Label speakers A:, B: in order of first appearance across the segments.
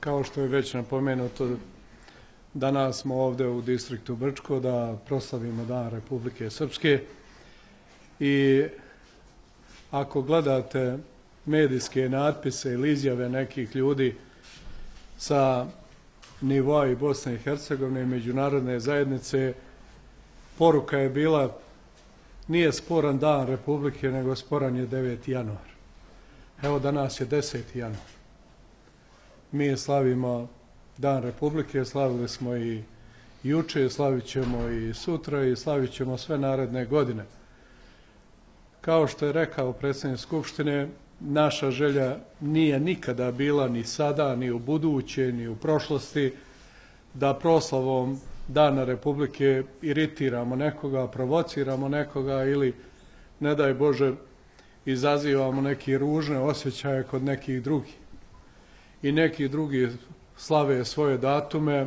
A: Kao što je već napomenuto, danas smo ovdje u distriktu Brčko da proslavimo Dan Republike Srpske i ako gledate medijske natpise ili izjave nekih ljudi sa nivoa i Bosne i Hercegovine i međunarodne zajednice, poruka je bila: nije sporan Dan Republike, nego sporan je 9. januar. Evo, danas je 10. januar. Mi slavimo Dan Republike, slavili smo i juče, slavit ćemo i sutra i slavit ćemo sve naredne godine. Kao što je rekao predsjednik Skupštine, naša želja nije nikada bila, ni sada, ni u buduće, ni u prošlosti, da proslavom Dana Republike iritiramo nekoga, provociramo nekoga ili, ne daj Bože, izazivamo neke ružne osjećaje kod nekih drugih. I neki drugi slave svoje datume,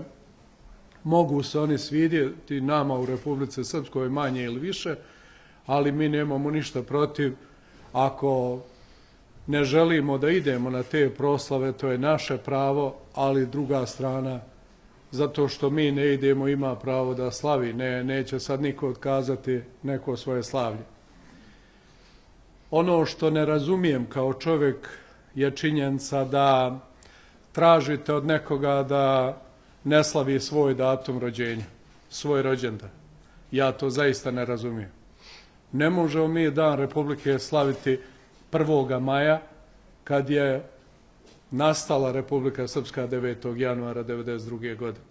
A: mogu se oni svidjeti nama u Republici Srpskoj manje ili više, ali mi nemamo ništa protiv. Ako ne želimo da idemo na te proslave, to je naše pravo, ali druga strana, zato što mi ne idemo, ima pravo da slavi. Neće sad niko otkazati neko svoje slavlje. Ono što ne razumijem kao čovjek je činjenica da tražite od nekoga da ne slavi svoj datum rođenja, svoj rođendan. Ja to zaista ne razumijem. Ne možemo mi Dan Republike slaviti 1. maja, kad je nastala Republika Srpska 9. januara 1992. godine.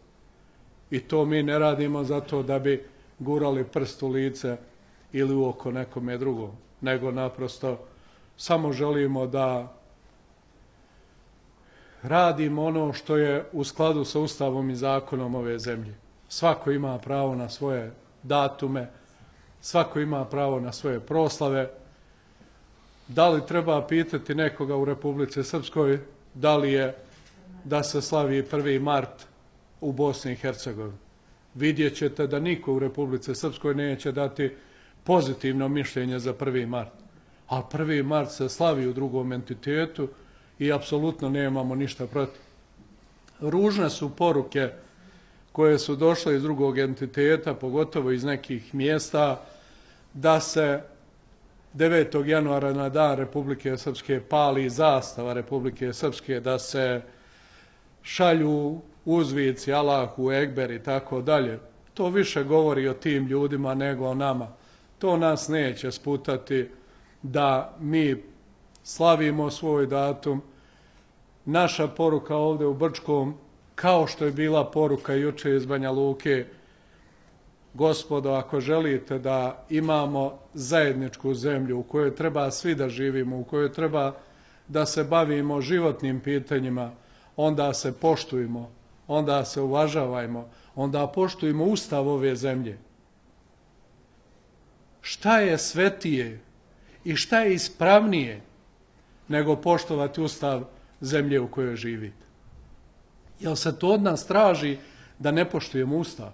A: I to mi ne radimo zato da bi gurali prst u lice ili u oko nekome drugom, nego naprosto samo želimo da radimo ono što je u skladu sa Ustavom i zakonom ove zemlje. Svako ima pravo na svoje datume, svako ima pravo na svoje proslave. Da li treba pitati nekoga u Republici Srpskoj da li je da se slavi 1. mart u Bosni i Hercegovini? Vidjet ćete da niko u Republici Srpskoj neće dati pozitivno mišljenje za 1. mart. Ali 1. mart se slavi u drugom entitetu i apsolutno nemamo ništa protiv. Ružne su poruke koje su došle iz drugog entiteta, pogotovo iz nekih mjesta, da se 9. januara na Dan Republike Srpske pali zastava Republike Srpske, da se šalju uzvici Allahu Ekber i tako dalje. To više govori o tim ljudima nego o nama. To nas neće sputati da mi slavimo svoj datum. Naša poruka ovdje u Brčkom, kao što je bila poruka juče iz Banja Luke: gospodo, ako želite da imamo zajedničku zemlju u kojoj treba svi da živimo, u kojoj treba da se bavimo životnim pitanjima, onda se poštujmo, onda se uvažavajmo, onda poštujmo Ustav ove zemlje. Šta je svetije i šta je ispravnije nego poštovati Ustav zemlje u kojoj živite? Jel se to od nas traži da ne poštujemo Ustav?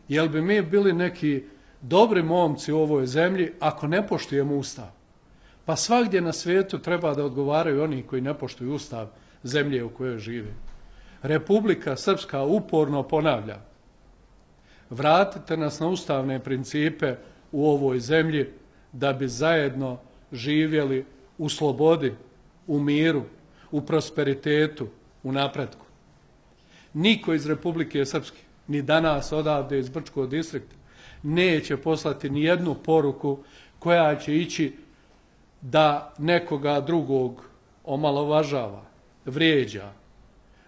A: Jel bi mi bili neki dobri momci u ovoj zemlji ako ne poštujemo Ustav? Pa svagdje na svijetu treba da odgovaraju oni koji ne poštuju Ustav zemlje u kojoj žive. Republika Srpska uporno ponavlja: vratite nas na ustavne principe u ovoj zemlji da bi zajedno živjeli u slobodi, u miru, u prosperitetu, u napretku. Niko iz Republike Srpske, ni danas odavde iz Brčkog distrikta, neće poslati ni jednu poruku koja će ići da nekoga drugog omalovažava, vrijeđa,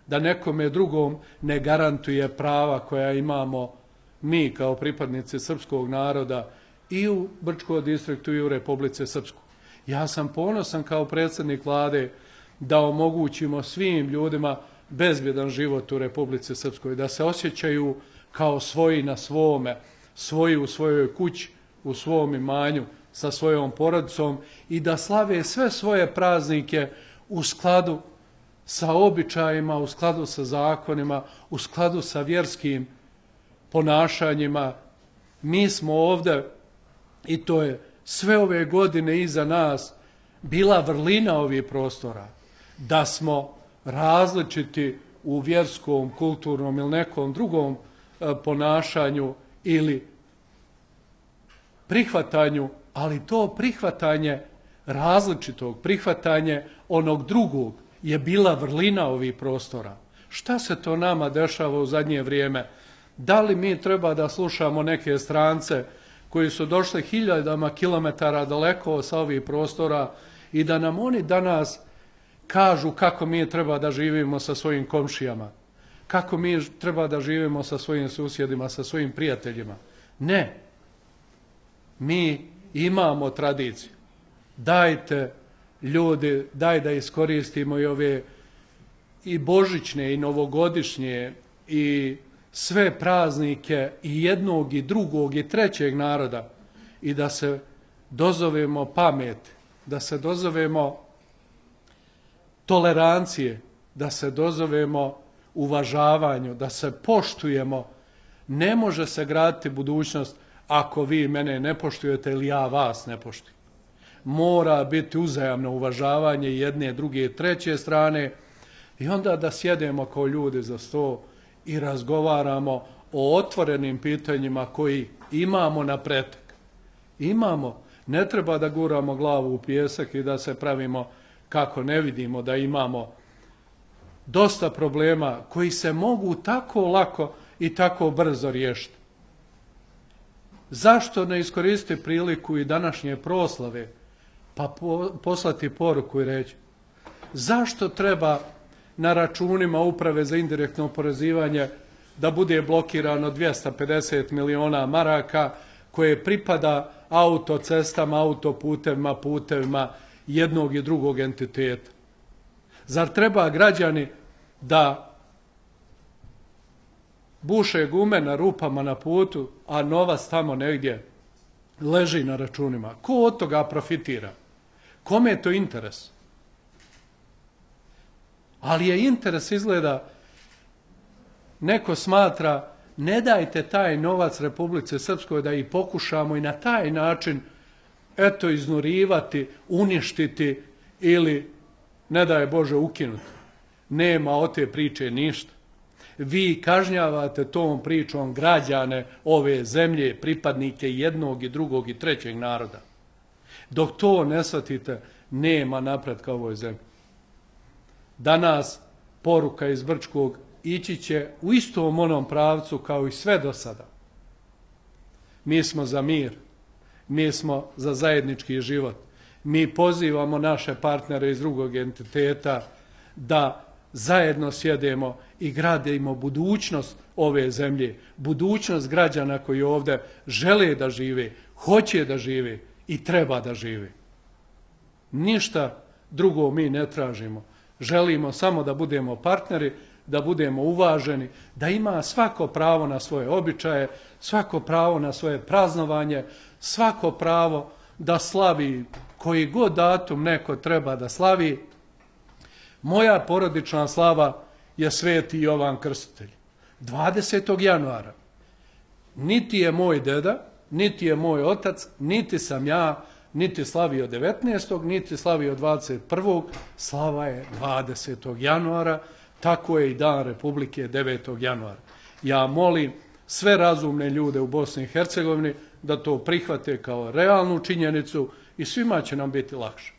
A: da nekome drugom ne garantuje prava koja imamo mi kao pripadnici srpskog naroda i u Brčkom distriktu i u Republici Srpskoj. Ja sam ponosan kao predsjednik vlade da omogućimo svim ljudima bezbjedan život u Republici Srpskoj, da se osjećaju kao svoji na svome, svoji u svojoj kući, u svom imanju, sa svojom porodicom i da slave sve svoje praznike u skladu sa običajima, u skladu sa zakonima, u skladu sa vjerskim ponašanjima. Mi smo ovdje, i to je sve ove godine iza nas, bila vrlina ovih prostora, da smo različiti u vjerskom, kulturnom ili nekom drugom ponašanju ili prihvatanju, ali to prihvatanje različitog, prihvatanje onog drugog je bila vrlina ovih prostora. Šta se to nama dešava u zadnje vrijeme? Da li mi treba da slušamo neke strance koji su došli hiljadama kilometara daleko sa ovih prostora i da nam oni danas kažu kako mi treba da živimo sa svojim komšijama, kako mi treba da živimo sa svojim susjedima, sa svojim prijateljima? Ne. Mi imamo tradiciju. Dajte, ljudi, daj da iskoristimo i ove i božićne i novogodišnje i sve praznike i jednog i drugog i trećeg naroda i da se dozovemo pameti, da se dozovemo tolerancije, da se dozovemo uvažavanju, da se poštujemo. Ne može se graditi budućnost ako vi mene ne poštujete ili ja vas ne poštujem. Mora biti uzajamno uvažavanje jedne, druge i treće strane i onda da sjedemo kao ljudi za sto i razgovaramo o otvorenim pitanjima koji imamo na pretek. Imamo. Ne treba da guramo glavu u pijesak i da se pravimo kako ne vidimo da imamo dosta problema koji se mogu tako lako i tako brzo riješiti. Zašto ne iskoristiti priliku i današnje proslave pa poslati poruku i reći zašto treba na računima Uprave za indirektno oporezivanje da bude blokirano 250 miliona maraka koje pripada autocestama, autoputevima, putevima jednog i drugog entiteta? Zar treba građani da buše gume na rupama na putu, a novac tamo negdje leži na računima? Ko od toga profitira? Kome je to interes? Ali je interes, izgleda, neko smatra, ne dajte taj novac Republici Srpskoj da ih pokušamo i na taj način eto iznurivati, uništiti ili, ne daj Bože, ukinuti. Nema od te priče ništa. Vi kažnjavate tom pričom građane ove zemlje, pripadnike jednog i drugog i trećeg naroda. Dok to ne shvatite, nema napretka u ovoj zemlji. Danas poruka iz Brčkog ići će u istom onom pravcu kao i sve do sada. Mi smo za mir, mi smo za zajednički život. Mi pozivamo naše partnere iz drugog entiteta da zajedno sjedemo i gradimo budućnost ove zemlje, budućnost građana koji ovdje žele da žive, hoće da žive i treba da žive. Ništa drugo mi ne tražimo. Želimo samo da budemo partneri, da budemo uvaženi, da ima svako pravo na svoje običaje, svako pravo na svoje praznovanje, svako pravo da slavi koji god datum neko treba da slavi. Moja porodična slava je Sveti Jovan Krstitelj. 20. januara. Niti je moj deda, niti je moj otac, niti sam ja, niti slavio 19. niti slavio 21. Slava je 20. januara, tako je i Dan Republike 9. januara. Ja molim sve razumne ljude u Bosni i Hercegovini da to prihvate kao realnu činjenicu i svima će nam biti lakše.